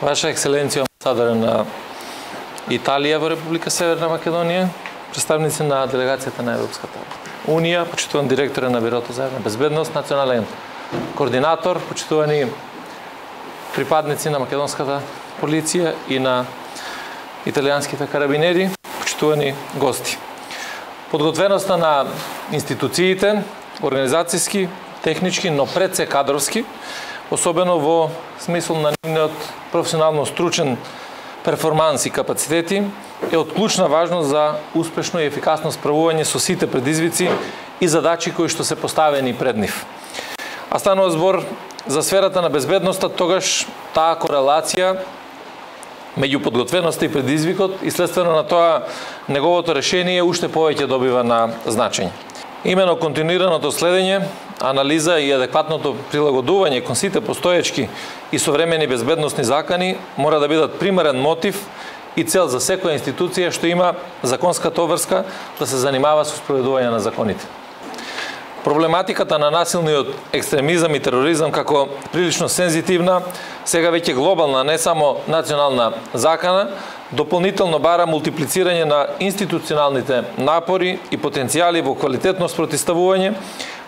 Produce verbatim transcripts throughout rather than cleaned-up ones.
Ваша екселенција, амбасадор на Италија во Република Северна Македонија, представници на делегацијата на Европската Унија, почитуван директор на Бирото за безбедност, национален координатор, почитувани припадници на македонската полиција и на италијанските карабинери, почитувани гости. Подготвеноста на институциите, организацијски, технички, но пред се кадровски, особено во смисол на нивниот професионално стручен перформанс и капацитети, е од клучна важност за успешно и ефикасно справување со сите предизвици и задачи кои што се поставени пред нив. А станува збор за сферата на безбедноста, тогаш таа корелација меѓу подготвеноста и предизвикот и следствено на тоа неговото решение уште повеќе добива на значење. Имено континуираното следење, анализа и адекватното прилагодување кон сите постоечки и современи безбедносни закани мора да бидат примерен мотив и цел за секоја институција што има законската обврска да се занимава со спроведување на законите. Проблематиката на насилниот екстремизам и тероризам како прилично сензитивна, сега веќе глобална, не само национална закана, дополнително бара мултиплицирање на институционалните напори и потенцијали во квалитетно спротивставување,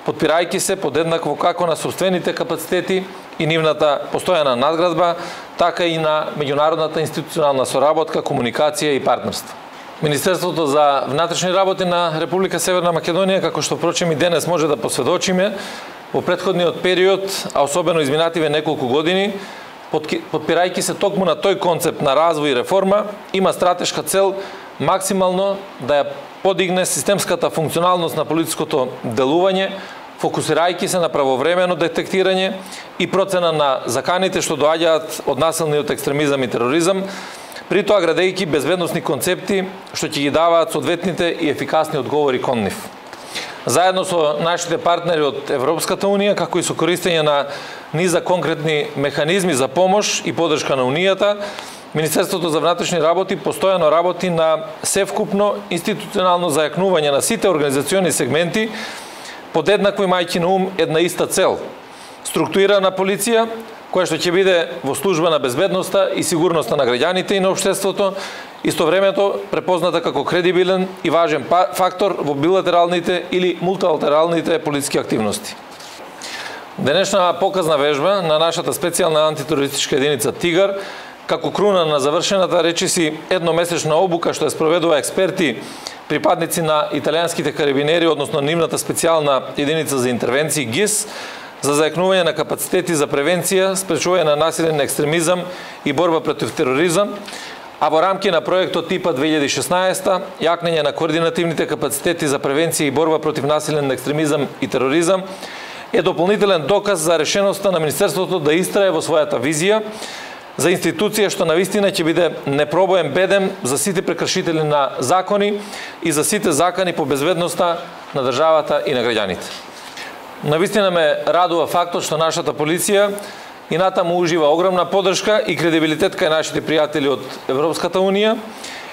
подпирајќи се подеднакво како на сопствените капацитети и нивната постојана надградба, така и на меѓународната институционална соработка, комуникација и партнерство. Министерството за внатрешни работи на Република Северна Македонија, како што впрочем и денес може да посведочиме, во претходниот период, а особено изминативе неколку години, подпирајќи се токму на тој концепт на развој и реформа, има стратешка цел максимално да ја подигне системската функционалност на политичкото делување, фокусирајќи се на правовремено детектирање и процена на заканите што доаѓаат од насилниот екстремизам и тероризам, при тоа градејќи безбедносни концепти што ќе ги даваат соодветните и ефикасни одговори кон нив. Заедно со нашите партнери од Европската Унија, како и со користење на низа конкретни механизми за помош и подршка на Унијата, Министерството за внатрешни работи постојано работи на севкупно институционално зајакнување на сите организациони сегменти, подеднакво имајќи на ум една иста цел – структурирана полиција, која што ќе биде во служба на безбедноста и сигурноста на граѓаните и на општеството, истовремено препозната како кредибилен и важен фактор во билатералните или мултилатералните политички активности. Денешна показна вежба на нашата специјална антитерористичка единица Тигар, како круна на завршената речиси едномесечна обука што ја спроведува експерти, припадници на италијанските карабинери, односно нивната специјална единица за интервенции ГИС, за зајакнување на капацитети за превенција, спречување на насилен екстремизам и борба против тероризам, а во рамки на проектот ТИПА две илјади и шеснаесета, јакнење на координативните капацитети за превенција и борба против насилен екстремизам и тероризам, е дополнителен доказ за решеноста на Министерството да истрае во својата визија за институција што навистина ќе биде непробоен бедем за сите прекршители на закони и за сите закани по безбедноста на државата и на граѓаните. Навистина ме радува фактот што нашата полиција и натаму ужива огромна поддршка и кредибилитет кај нашите пријатели од Европската Унија,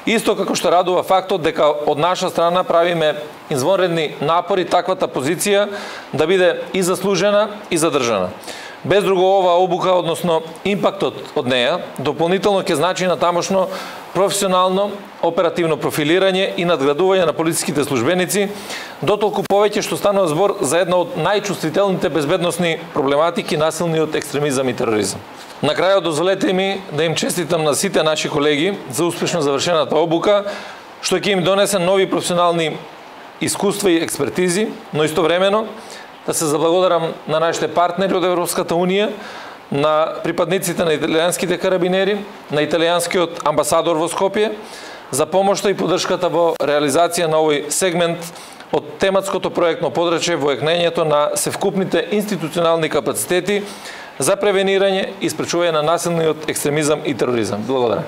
исто како што радува фактот дека од наша страна правиме извонредни напори таквата позиција да биде и заслужена и задржана. Без друго, ова обука, односно импактот од неја, дополнително ќе значи на тамошно професионално, оперативно профилирање и надградување на полициските службеници, дотолку повеќе што станува збор за една од најчувствителните безбедносни проблематики насилниот екстремизам и тероризам. На крајот дозволете ми да им честитам на сите наши колеги за успешно завршената обука, што ќе им донесе нови професионални искуства и експертизи, но истовремено да се заблагодарам на нашите партнери од Европската Унија, на припадниците на италијанските карабинери, на италијанскиот амбасадор во Скопје, за помошта и поддршката во реализација на овој сегмент од тематското проектно подрачје во екнењето на севкупните институционални капацитети за превенирање и спречување на насилниот екстремизам и тероризам. Благодарам.